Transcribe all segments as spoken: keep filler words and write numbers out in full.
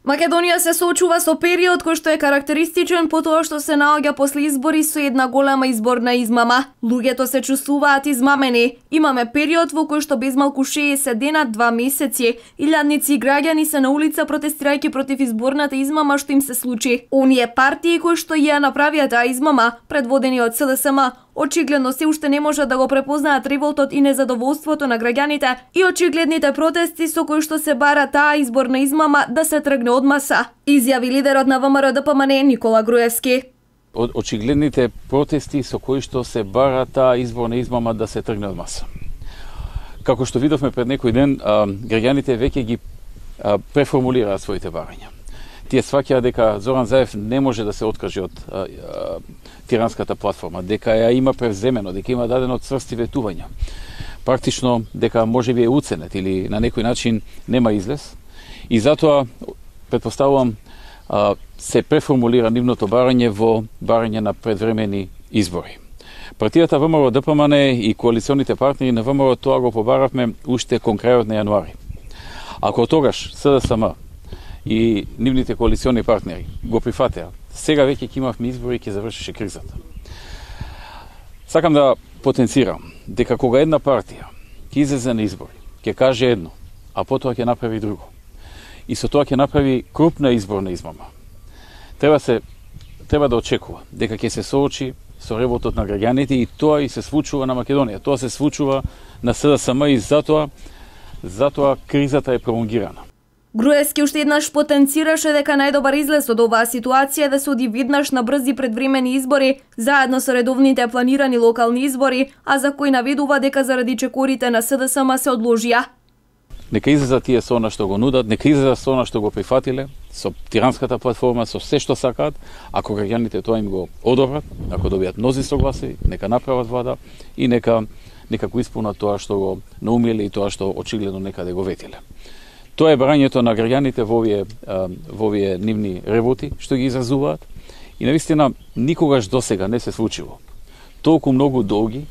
Македонија се соочува со период кој што е карактеристичен по тоа што се наоѓа после избори со една голема изборна измама. Луѓето се чувствуваат измамени. Имаме период во кој што без малку шеесет дена, два месеци, илјадници граѓани се на улица протестирајќи против изборната измама што им се случи. Оние партии кои што ја направија таа измама, предводени од СДСМ, очигледно се уште не можат да го препознаат револтот и незадоволството на граѓаните и очигледните протести со кои што се бара таа изборна измама да се тргне од маса, изјави лидерот на ВМРО Д П М Н Никола Груевски. Очигледните протести со кои што се бара таа изборна измама да се тргне од маса. Како што видовме пред некој ден, граѓаните веќе ги преформулираат своите барања. Тие сваќаат дека Зоран Заев не може да се откаже од а, а, тиранската платформа, дека ја има превземено, дека има дадено цврсти ветувања. Практично дека можеби е уценет или на некој начин нема излез. И затоа, предпоставувам, а, се преформулира нивното барање во барање на предвремени избори. Партијата ВМРО Д П М Н и коалиционите партнери на ВМРО тоа го побаравме уште кон крајот на јануари. Ако тогаш СДСМ и нивните коалициони партнери го прифатеа, сега веќе ќе имавме избори и ќе завршеше кризата. Сакам да потенцирам дека кога една партија ќе излезе на избори, ќе каже едно, а потоа ќе направи друго, и со тоа ќе направи крупна изборна измама, треба се треба да очекува дека ќе се соочи со револтот на граѓаните и тоа и се случува на Македонија, тоа се случува на СДСМ и затоа затоа кризата е пролонгирана. Груевски уште еднаш потенцираше дека најдобар излез од оваа ситуација е да се оди веднаш на брзи предвремени избори, заедно со редовните планирани локални избори, а за кои наведува дека заради чекорите на СДСМ се одложија. Нека излезат тие со она што го нудат, нека излезат со она што го прифатиле, со тиранската платформа, со се што сакаат, ако граѓаните тоа им го одобрат, ако добијат мнозинство гласови, нека направат влада и нека нека го исполнат тоа што го наумиле и тоа што очигледно некаде го ветиле. Тоа е барањето на граѓаните во овие, во овие нивни револти, што ги изразуваат. И навистина, никогаш досега не се случило толку многу долги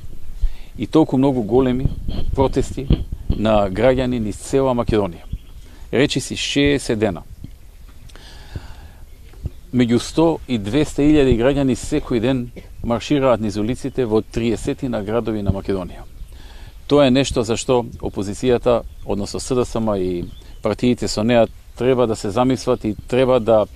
и толку многу големи протести на граѓани низ цела Македонија. Речи си шеесет дена. Меѓу сто и двесте илјади граѓани секој ден маршираат низ улиците во триесет градови на Македонија. Тоа е нешто за што опозицијата, односно СДСМ и партиите со неа треба да се замислат и треба да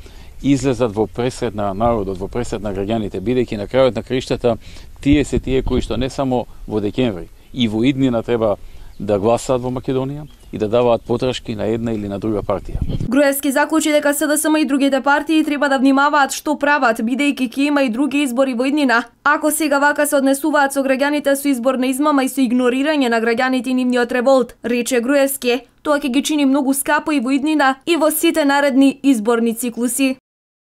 излезат во пресред на народот, во пресред на граѓаните, бидејќи на крајот на краиштата тие се тие кои што не само во декември и во иднина треба да гласаат во Македонија и да даваат подршки на една или на друга партија. Груевски заклучи дека СДСМ и другите партии треба да внимаваат што прават, бидејќи ќе има и други избори во иднина. Ако сега вака се однесуваат со граѓаните со изборна измама и со игнорирање на граѓаните и нивниот револт, рече Груевски, тоа ќе ги чини многу скапо и во иднина и во сите наредни изборни циклуси.